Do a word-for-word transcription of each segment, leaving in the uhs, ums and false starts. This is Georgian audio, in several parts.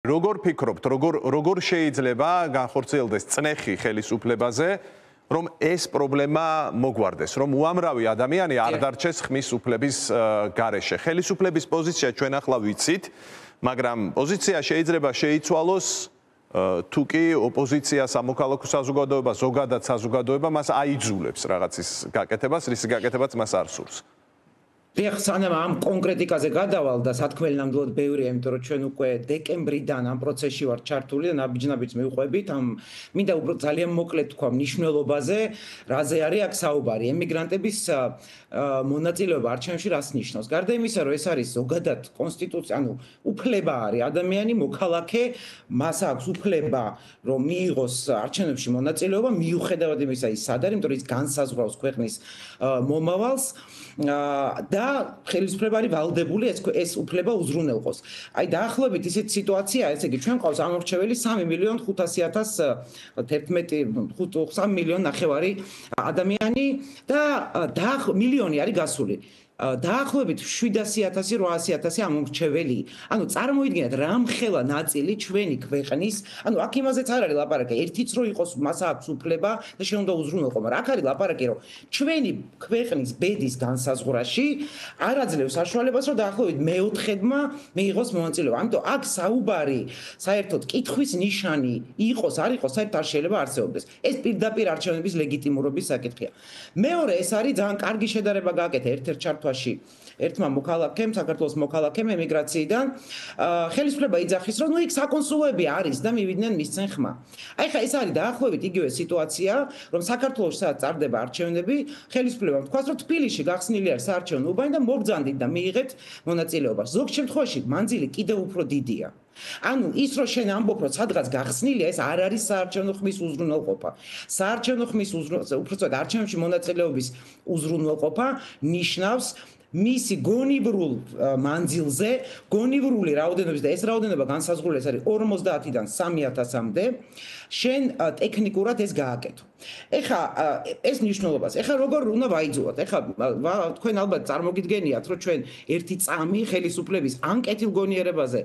როგორ ფიქრობთ, როგორ როგორ შეიძლება განხორციელდეს წნეხი ხელისუფლებაზე, რომ ეს პრობლემა მოგვარდეს, რომ უამრავი ადამიანი არ დარჩეს ხმის უფლების გარეშე. ხელისუფლების პოზიცია ჩვენ ახლა ვიცით, მაგრამ პოზიცია შეიძლება შეიცვალოს თუ კი ოპოზიცია, სამოქალაქო საზოგადოება, ზოგადად საზოგადოება მას აიძულებს რაღაცის გაკეთებას, რის გაკეთებაც მას არ სურს. Დიახ, სანამ ამ კონკრეტიკაზე გადავალ და სათქმელი ნამდვილად ბევრია, იმიტომ რომ ჩვენ უკვე დეკემბრიდან ამ პროცესში ვართ ჩართული და ნაბიჯ-ნაბიჯს მივყვებით. ამ მინდა უფრო ძალიან მოკლედ თქვა მნიშვნელობაზე, რაზე არის აქ საუბარი. ემიგრანტების მონაწილეობა არჩევნებში რას ნიშნავს? გარდა იმისა, რომ ეს არის ზოგადად კონსტიტუცია, ანუ უფლება არის ადამიანი, მოქალაქე, მას აქვს უფლება, რომ მიიღოს არჩევნებში მონაწილეობა, მიუხედავად იმისა, ის სად არის, იმიტომ რომ ის განსაზღვრავს ქვეყნის მომავალს. და ხელისუფლება არის ვალდებული ეს ეს უფლება უზრუნველყოს. აი დაახლოებით ისეთი სიტუაცია, ესე იგი ჩვენ ყავს ამორჩეველი სამი მილიონი ხუთასი ათასი თერთმეტი სამი მილიონი ნახევარი ადამიანი და მილიონი არის გასული. დაახლოებით შვიდასი ათასი რვაასი ათასი ამორჩეველი. ანუ წარმოიდგინეთ რამხელა ნაწილი ჩვენი ქვეყნის, ანუ აქ იმაზეც არ არის ლაპარაკი, ერთიც რო იყოს მას აქვს უფლება და შენ უნდა უზრუნველყო, მაგრამ აქ არის ლაპარაკი, რომ ჩვენი ქვეყნის ბედის განსაზღვრაში არ აძლევს საშუალებას, რომ დაახლოებით მეოთხედმა მიიღოს მონაწილეობა. ამიტომ აქ საუბარი საერთოდ კითხვის ნიშანი იყოს, არ იყოს, საერთოდ არ შეიძლება არსებობდეს. ეს პირდაპირ არჩევნების ლეგიტიმურობის საკითხია. მეორე, ეს არის ძალიან კარგი შედარება გააკეთა ერთ-ერთ ჩართვა ერთმა მოქალაქემ, საქართველოს მოქალაქემ ემიგრაციიდან, ხელისუფლება იძახის, რომ ნუ იქ საკონსულოები არის და მივიდნენ მისცენ ხმა. აი ხა ეს არის დაახლოებით იგივე სიტუაცია, რომ საქართველოში სადაც წარდება არჩევნები, ხელისუფლებამ თქვას, რომ თბილისში გახსნილი არის საარჩევნო უბანი და მოგბრძანდით და მიიღეთ მონაწილეობას. ზოგ შემთხვევაში მანძილი კიდევ უფრო დიდია. ანუ ის რომ შენ ამბობ, რომ სადღაც გახსნილია, ეს არ არის საარჩევნო ხმის უზრუნველყოფა. საარჩევნო ხმის უზრუნველყოფა, უბრალოდ არჩევნებში მონაწილეობის უზრუნველყოფა ნიშნავს მისი გონივრულ მანძილზე, გონივრული რაოდენობის და ეს რაოდენობა განსაზღვრული არის ორმოცდაათიდან სამი ათასამდე, შენ ტექნიკურად ეს გააკეთო. ეხა ეს ნიშნულობას, ეხა როგორ უნდა ვაიძულოთ? ეხა თქვენ ალბათ წარმოგიდგენიათ, რომ ჩვენ ერთი წამი ხელისუფლების ან კეთილგონიერებაზე,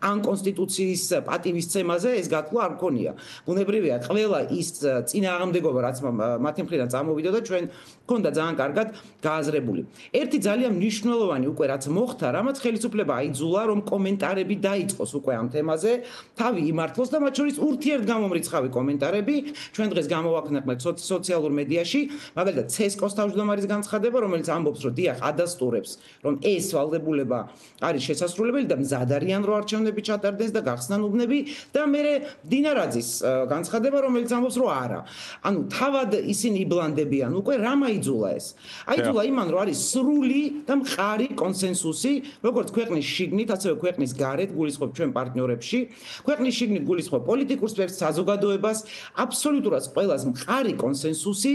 ან კონსტიტუციის პატივისცემაზე ეს გათვლა არ გქონია. ბუნებრივია, ყველა ის წინააღმდეგობა, რაც მათი მხრიდან წამოვიდა და ჩვენ გქონდა ძალიან კარგად გააზრებული. ერთი ძალიან მნიშვნელოვანი უკვე რაც მოხდა, რამაც ხელისუფლება აიძულა, რომ კომენტარები დაიწყოს უკვე ამ თემაზე, თავი იმართლოს და მათ შორის ურთიერთგამომრიცხავი კომენტარები, ჩვენ დღეს გამოვაქვთ სოციალურ მედიაში, მაგალითად ცესკოს თავმჯდომარის განცხადება, რომელიც ამბობს, რომ დიახ, ადასტურებს, რომ ეს ვალდებულება არის შესასრულებელი და მზად არიან რომ არჩევნები ჩატარდეს და გახსნან უბნები და მერე დინარაძის განცხადება, რომელიც ამბობს, რომ არა. ანუ თავად ისინი იბლანდებიან, უკვე რამ აიძულა ეს? აიძულა იმან, რომ არის სრული და მყარი კონსენსუსი, როგორც ქვეყნის შიგნით, ასევე ქვეყნის გარეთ, გულისხმობ ჩვენ პარტნიორებში, ქვეყნის შიგნით გულისხმობ პოლიტიკურ სფეროს, საზოგადოებას, აბსოლუტურად ყველას მყარი კონსენსუსი,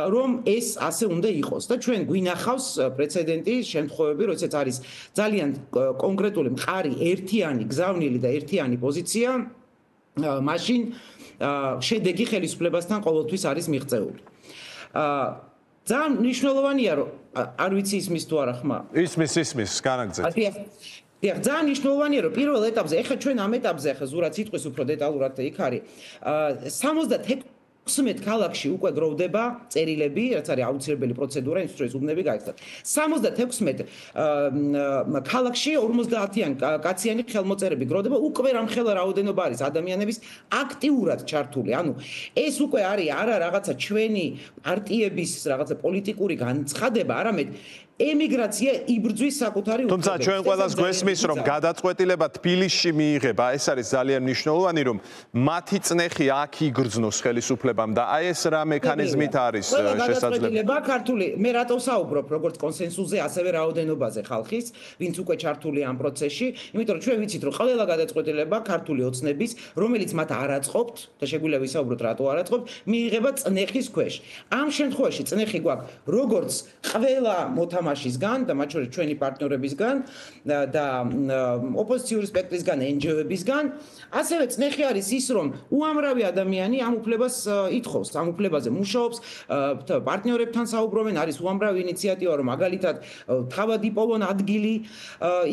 რომ ეს ასე უნდა იყოს და ჩვენ გვინახავს პრეცედენტი შემთხვევები, როდესაც არის ძალიან კონკრეტული მყარი ერთიანი გზავნილი და ერთიანი პოზიცია, მაშინ შედეგი ხელისუფლებასთან ყოველთვის არის მიღწეული. ძალიან მნიშვნელოვანია, რომ არ ვიცი ისმის თუ არა ხმა. ისმის, ისმის, განაგრძეთ. დიახ, ძალიან მნიშვნელოვანია, რომ პირველ ეტაპზე, ეხლა ჩვენ ამ ეტაპზე, ახლა ზურაც სიტყვის უფრო დეტალურად იქ არის, სამოცდაექვსმეტ ქალაქში უკვე გროვდება წერილები, რაც არის აუცილებელი პროცედურა, იმისთვის რომ უბნები გაიხსნათ. სამოცდაექვსმეტ ქალაქში ორმოცდაათიან კაციანი ხელმოწერები გროვდება, უკვე რამხელა რაოდენობა არის ადამიანების აქტიურად ჩართული. ანუ ეს უკვე არის არა რაღაცა ჩვენი პარტიების რაღაცა პოლიტიკური განცხადება, არამედ ემიგრაცია იბრძვის საკუთარი უფლებებით. თუმცა ჩვენ ყველას გვესმის, რომ გადაწყვეტილება თბილისში მიიღება, ეს არის ძალიან მნიშვნელოვანი, რომ მათი წნეხი აქ იგრძნოს ხელისუფლებამ და აი ეს რა მექანიზმით არის შესაძლებელი. გადაწყვეტილება ქართული, მე რატო საუბრობ, როგორც კონსენსუსზე, ასევე რაოდენობაზე ხალხის, ვინც უკვე ჩართული ამ პროცესში, იმიტომ რომ ჩვენ ვიცით, რომ ყველა გადაწყვეტილება ქართული ოცნების, რომელიც მათ არ აწყობთ და შეგვიძლია ვისაუბროთ, რატო არ აწყობთ, მიიღება წნეხის ქვეშ. ამ შემთხვევაში წნეხი გვაქვს როგორც ყველა მოთამაშე თამაშისგან და მათ შორის ჩვენი პარტნიორებისგან და ოპოზიციური სპექტრისგან, en ge o-ებისგან, ასევე წნეხი არის ის, რომ უამრავი ადამიანი ამ უფლებას ითხოვს, ამ უფლებაზე მუშაობს, პარტნიორებთან საუბრობენ, არის უამრავი ინიციატივა, რომ მაგალითად თავად იპოვონ ადგილი,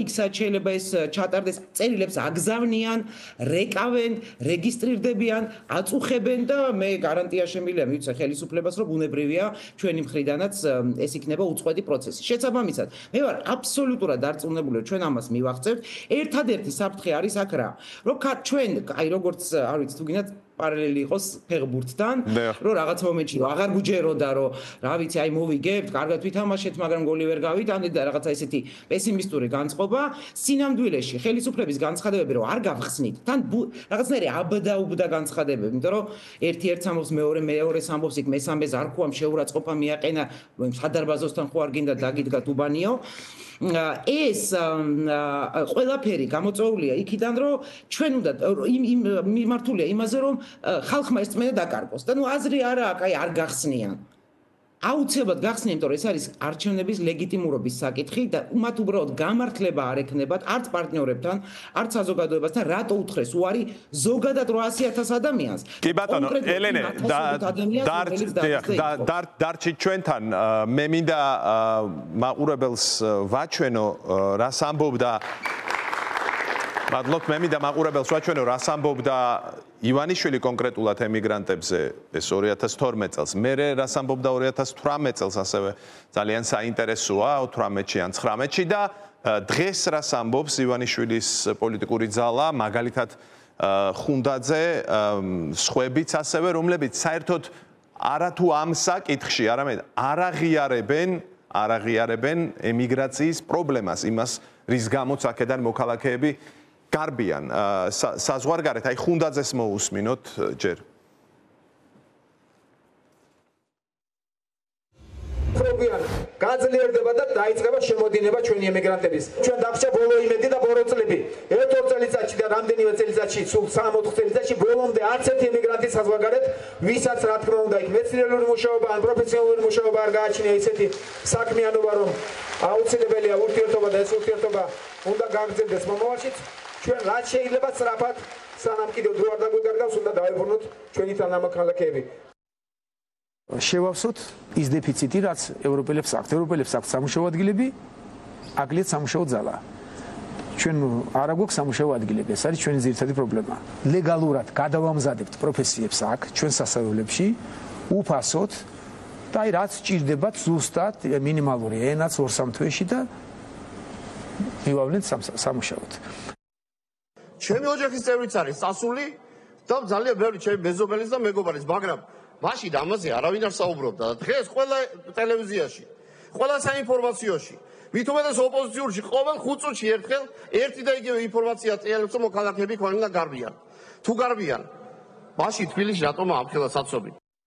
იქ-საც შეიძლება ეს ჩატარდეს, წერილებს აგზავნიან, რეკავენ, რეგისტრირდებიან, აწუხებენ და მე გარანტია შემიძლია მივცე ხელისუფლებას, რომ ბუნებრივია ჩვენი მხრიდანაც ეს იქნება უწყვეტი პროცესი. შესაბამისად, მე ვარ აბსოლუტურად დარწმუნებული, რომ ჩვენ ამას მივახცევთ. ერთადერთი საფრთხე არის აქ რა, რომ ჩვენ, აი როგორც არ ვიცი თუ გინდათ პარალელი იყოს ფეხბურთთან, რომ რაღაც მომენტში რომ აღარ გუჯეროდა, რომ რა ვიცი, აი მოვიგებთ, კარგად ვითამაშეთ, მაგრამ გოლი ვერ გავიტანეთ და რაღაცა ესეთი პესიმისტური განწყობა, სინამდვილეში ხელისუფლების განცხადებები რომ არ გავხსნით, თან რაღაცნაირი აბდაუბდა განცხადებები, იმიტომ რომ ერთი ერთს ამბობს, მეორე მეორეს ამბობს, იქ მესამეს არ ქვამ შეურაცხყოფა მიაყენა, სადარბაზოსთან ხო არ გინდა დაგიდგა თუბანიო. ეს ყველაფერი გამოწვეულია იქიდან, რომ ჩვენ უნდა მიმართულია იმაზე, რომ ხალხმა ეს წმენა დაკარგოს და ნუ აზრი არა აქვს, აი არ გახსნიან. აუცილებლად გახსნიან, იმიტომ რომ ეს არის არჩევნების ლეგიტიმურობის საკითხი და მათ უბრალოდ გამართლება არ ექნებათ არც პარტნიორებთან, არც საზოგადოებასთან, რატო უთხრეს უარი ზოგადად რვაასი ათას ადამიანს. კი ბატონო, ელენე, დარჩით ჩვენთან, მე მინდა მაყურებელს ვაჩვენო, რას ამბობდა მადლობთ, მე მინდა მაყურებელს ვაჩვენო, რას ამბობდა ივანიშვილი კონკრეტულად ემიგრანტებზე ეს ორი ათას თორმეტ წელს. მე რას ამბობდა ორი ათას თვრამეტ წელს ასევე ძალიან საინტერესოა ოთვრამეტში ან ცხრამეტში და დღეს რას ამბობს ივანიშვილის პოლიტიკური ძალა, მაგალითად ხუნდაძე, სხვებიც ასევე, რომლებიც საერთოდ არათუ ამ საკითხში, არამედ არაღიარებენ, არაღიარებენ ემიგრაციის პრობლემას, იმას, რის გამოც აქედან მოქალაქეები გარბიან. საზღვარგარეთ, აი ხუნდაძეს მოусმინოთ ჯერ. გაძლიერდება და დაიწყება შემოდინება ჩვენი ემიგრანტების. ჩვენ დაგვრჩა ბოლო იმედი და ბოლო წლები. ერთ-ორ წელიწადში და რამდენიმე წელიწადში, სულ სამი-ოთხ წელიწადში ბოლომდე არც ერთი ემიგრანტი საზღვარგარეთ, ვისაც რა თქმა უნდა იქ მეცნიერული მუშაობა ან პროფესიონალური მუშაობა არ გააჩნია ისეთი საქმიანობა, რომ აუცილებელია ურთიერთობა და ეს ურთიერთობა უნდა გაგრძელდეს მომავალშიც. ჩვენ რაც შეიძლება სწრაფად, სანამ კიდევ დრო არ დაგვიგარგავს, უნდა დავიბრუნოთ ჩვენი თანამოქალაქეები. შევავსოთ ის დეფიციტი, რაც ევროპელებს აქვთ. ევროპელებს აქვთ სამუშაო ადგილები, აკლია სამუშაო ძალა. ჩვენ არა გვაქვს სამუშაო ადგილები, ეს არის ჩვენი ძირითადი პრობლემა. ლეგალურად გადავამზადებთ პროფესიებს აქ, ჩვენ სასწავლებლებში, უფასოდ და აი რაც სჭირდებათ ზუსტად მინიმალური ენაც ორ-სამ თვეში და მივავლენთ სამუშაოდ. ჩემი ოჯახის წევრიც არის სასული და ძალიან ბევრი ჩემი მეზობელის და მეგობარის, მაგრამ მაშინ ამაზე არავინ არ საუბრობდა და დღეს ყველა ტელევიზიაში, ყველა საინფორმაციოში, მით უმეტეს ოპოზიციურში ყოველ ხუთ წუთში ერთხელ ერთი და იგივე ინფორმაცია წერილებს, რომ მოქალაქეები ქონენ და გარბიან. თუ გარბიან, მაშინ თბილისში რატომ ამ ხელა საცობი?